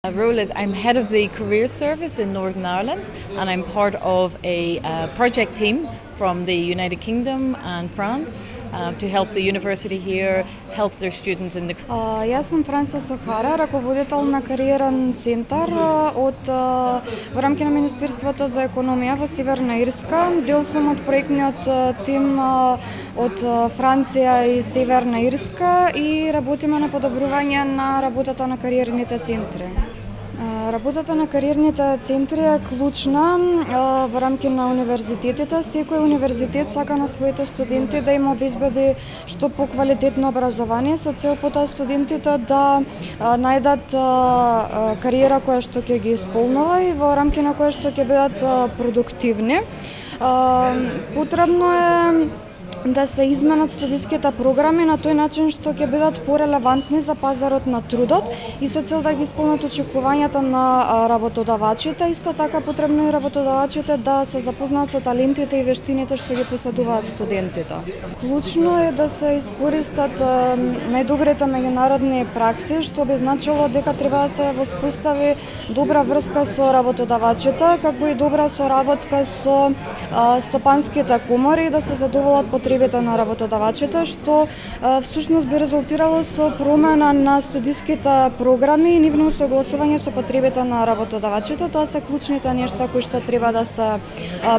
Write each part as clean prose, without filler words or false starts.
My role is I'm head of the career service in Northern Ireland, and I'm part of a project team from the United Kingdom and France to help the university here help their students in the. Јас сум Франса Сохара, раководител на кариерен центар во рамки на Министерството за економија во Северна Ирска. Дел сум од проектниот тим од Франција и Северна Ирска и работиме на подобрување на работата на кариерните центри. Работата на кариерните центри е клучна во рамки на универзитетите. Секој универзитет сака на своите студенти да им обезбеди што поквалитетно образование со цел потоа студентите да најдат кариера која што ќе ги исполнува и во рамки на која што ќе бидат продуктивни. Потребно е да се изменат студиските програми на тој начин што ќе бидат порелевантни за пазарот на трудот и со цел да ги исполнат очекувањата на работодавачите. Исто така потребно и работодавачите да се запознаат со талентите и вештините што ги поседуваат студентите. Клучно е да се искористат најдобрите меѓународни пракси, што би значило дека треба да се воспостави добра врска со работодавачите, како и добра соработка со стопанските комори да се задоволат потребите на работодавачите, што всушност би резултирало со промена на студиските програми и нивно согласување со потребите на работодавачите. Тоа се клучните нешта кои што треба да се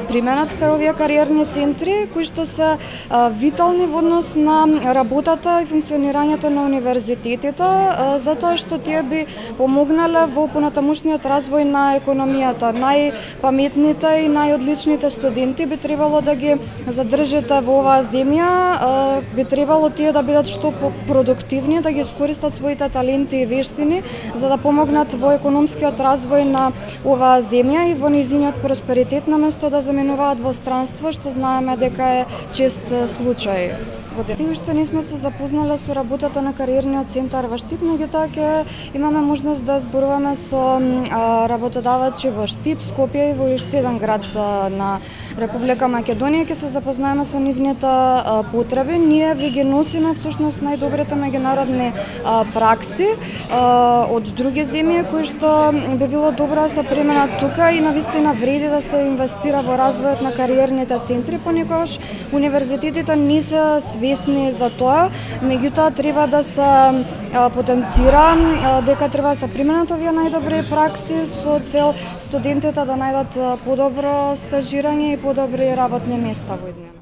применат кај овие кариерни центри, кои што се витални во однос на работата и функционирањето на универзитетите, затоа што тие би помогнале во понатамушниот развој на економијата. Најпаметните и најодличните студенти би требало да ги задржите во оваа земја, би требало тие да бидат што продуктивни, да ги искористат своите таленти и вештини за да помогнат во економскиот развој на оваа земја и во нејзиниот просперитет, наместо да заминуваат во странство, што знаеме дека е чест случај. Се уште не сме се запознале со работата на кариерниот центар во Штип, меѓутоа ќе имаме можност да зборуваме со работодавачи во Штип, Скопје и во уште еден град на Република Македонија. Ќе се запознаеме со нивните потреби. Ние ви ги носиме всушност најдобрите меѓународни пракси од други земји кои што би било добро да се применат тука и навистина вреди да се инвестира во развојот на кариерните центри. Понекогаш универзитетите не се свесни за тоа, меѓутоа треба да се потенцира дека треба да се применат овие најдобри пракси со цел студентите да најдат подобро стажирање и подобри работни места во иднина.